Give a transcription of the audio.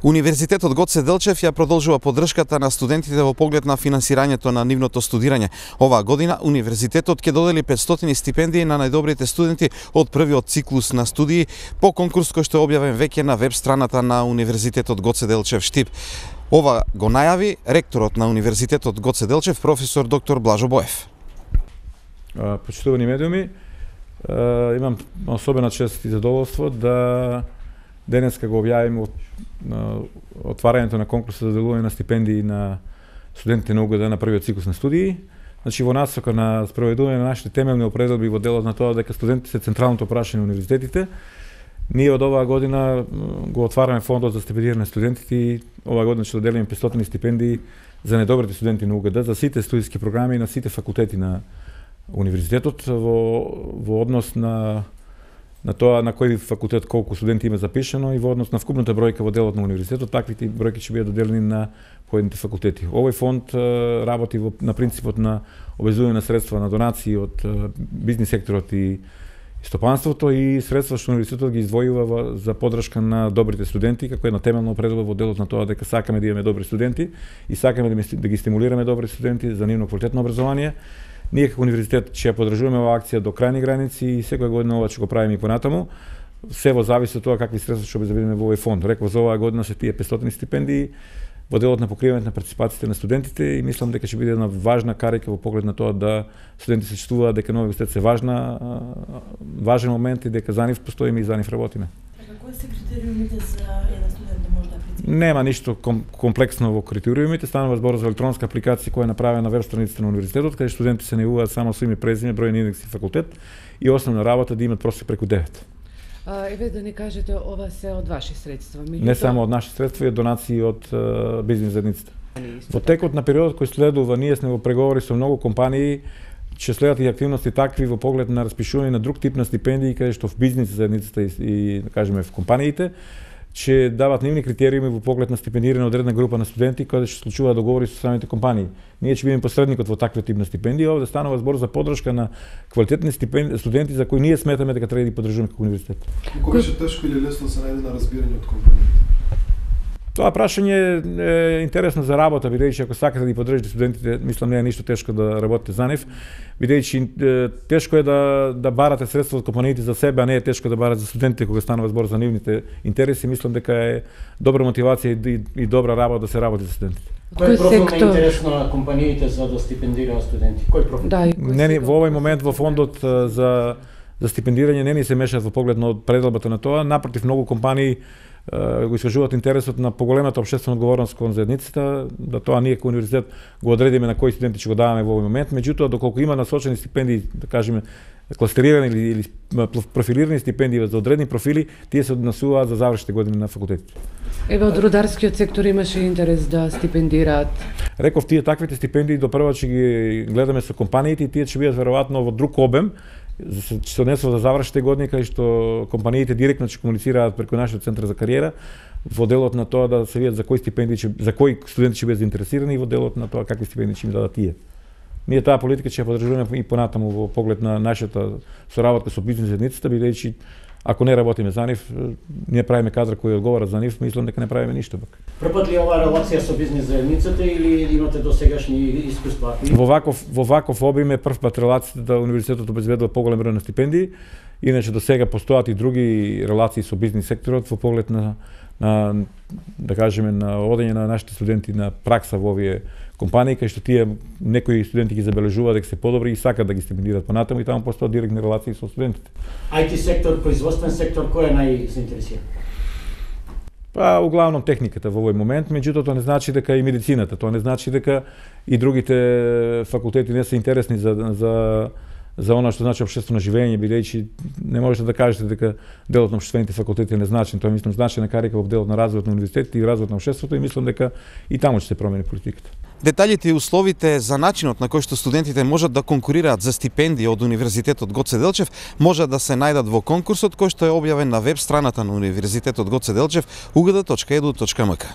Универзитетот Гоце Делчев ја продолжува поддршката на студентите во поглед на финансирањето на нивното студирање. Оваа година универзитетот ќе додели 500 стипендии на најдобрите студенти од првиот циклус на студии по конкурс кој што е објавен веќе на веб страната на Универзитетот Гоце Делчев Штип. Ова го најави ректорот на Универзитетот Гоце Делчев, професор доктор Блажо Боев. Почитувани медиуми, имам особена чест и задоволство да денеска го објавим отварањето на конкурсот за доделување на стипендии на студентите на УГД на првиот циклус на студии. Значи во насока на спроведување на нашите темелни определби во делот на тоа дека студентите се централното прашање на универзитетите, ние од оваа година го отвараме фондот за стипендирање на студентите и оваа година ќе доделиме 500 стипендии за најдобрите студенти на УГД за сите студиски програми на сите факултети на универзитетот во однос на тоа на кој факултет колку студенти има запишено и во однос на вкупната бројка во делот на универзитетот, таквите бројки ќе бидат доделени на поедните факултети. Овој фонд работи на принципот на обезување на средства на донации од бизнис секторот и стопанството и средства што универзитетот ги издвојува за поддршка на добрите студенти, како една темелна определба во делот на тоа дека сакаме да имаме добри студенти и сакаме да ги стимулираме добри студенти за нивно квалитетно образование. Ние како универзитет ќе ја поддржуваме оваа акција до крајни граници и секоја година ова ќе го правиме и понатаму. Се во зависи од тоа какви средства ќе обезбедиме во овој фонд. Реков за оваа година се тие 500 стипендии во делот на покривањето на партиципациите на студентите и мислам дека ќе биде една важна карика во поглед на тоа да студенти се чувствуваат дека новиот универзитет се важен момент и дека за нив постоиме и за нив работиме. Кои се критериумите за еден студент да може да прецени? Нема ништо комплексно во критериумите, станува збор за електронска апликација која е направена на веб страницата на универзитетот, каде студенти се најавуваат само со име, презиме, број на индекс и факултет и основна работа да имат просек преку 9. Еве да ни кажете, ова се од ваши средства? Не само од наши средства, и од донации од бизнис заедницата. Во текот на периодот кој следува, ние сме во преговори со многу компании, ќе следат и активности такви во поглед на распишување на друг тип на стипендии, каде што в бизнис заедницата и да кажеме в компаниите ќе дават нивни критериуми во поглед на стипендирање од една група на студенти каде ќе случуваат договори со самите компании. Ние ќе бидеме посредникот во таквиот тип на стипендии, овде станува збор за поддршка на квалитетни студенти за кои ние сметаме дека треба да ги поддржуваме како универзитет. Колку беше тешко или лесно се најде на разбирање од компаниите? Тоа прашање е интересно за работа, бидејќи ако сакате да ги поддржите студентите, мислам не е ништо тешко да работите за нив, бидејќи тешко е да барате средства од компаниите за себе, а не е тешко да барате за студентите кога станува збор за нивните интереси. Мислам дека е добра мотивација и добра работа да се работи за студентите. Кој профил е интересно на компаниите за да стипендираат студенти? Кој профил? Во овој момент во фондот за стипендирање не ни се мешаат во поглед на пределбата на тоа, напротив многу компании го искажуваат интересот на поголемата општествена одговорност кон заедницата, да тоа ние како универзитет го одредиме на кои студенти ќе го даваме во овој момент, меѓутоа доколку има насочени стипендии, да кажеме кластерирани или профилирани стипендии за одредени профили, тие се однесуваат за завршните години на факултетите. Еве од рударскиот сектор имаше интерес да стипендираат. Реков тие таквите стипендии допрва ќе ги гледаме со компаниите и тие ќе бидат веројатно во друг обем, ќе се однесува за завршните години кај што компаниите директно ќе комуницираат преку нашиот центар за кариера во делот на тоа да се видат за кои стипендии за кои студенти ќе бидат заинтересирани и во делот на тоа какви стипендии ќе им дадат тие. Ние таа политика ќе ја поддржуваме и понатаму во поглед на нашата соработка со бизнис заедницата, бидејќи ако не работиме за нив, ние правиме кадри кои одговарат за нив, мислам дека не правиме ништо пак. Првпат ли оваа релација со бизнис заедницата или имате досегашни искуства? Во ваков обим е првпат релацијата да универзитетот обезбедува поголем број на стипендии, иначе до сега постојат и други релации со бизнис секторот во поглед на да кажеме на одење на нашите студенти на пракса во овие компании, кај што тие некои студенти ги забележуваат дека се подобри и сакаат да ги стипендираат понатаму и таму постојат директни релации со студентите. IT сектор, производствен сектор, кој е најзаинтересиран? Углавном техниката во овој момент, меѓутоа тоа не значи дека и медицината, тоа не значи дека и другите факултети не се интересни за она што значи општествено живење, бидејќи не можете да кажете дека делот на општествените факултети е незначен, тоа мислам значајна карика во делот на развојот на универзитетите и развојот на општеството и мислам дека и таму ќе се промени политиката. Деталите и условите за начинот на кој што студентите можат да конкурираат за стипендии од Универзитетот Гоце Делчев можат да се најдат во конкурсот кој што е објавен на веб страната на Универзитетот Гоце Делчев ugd.edu.mk.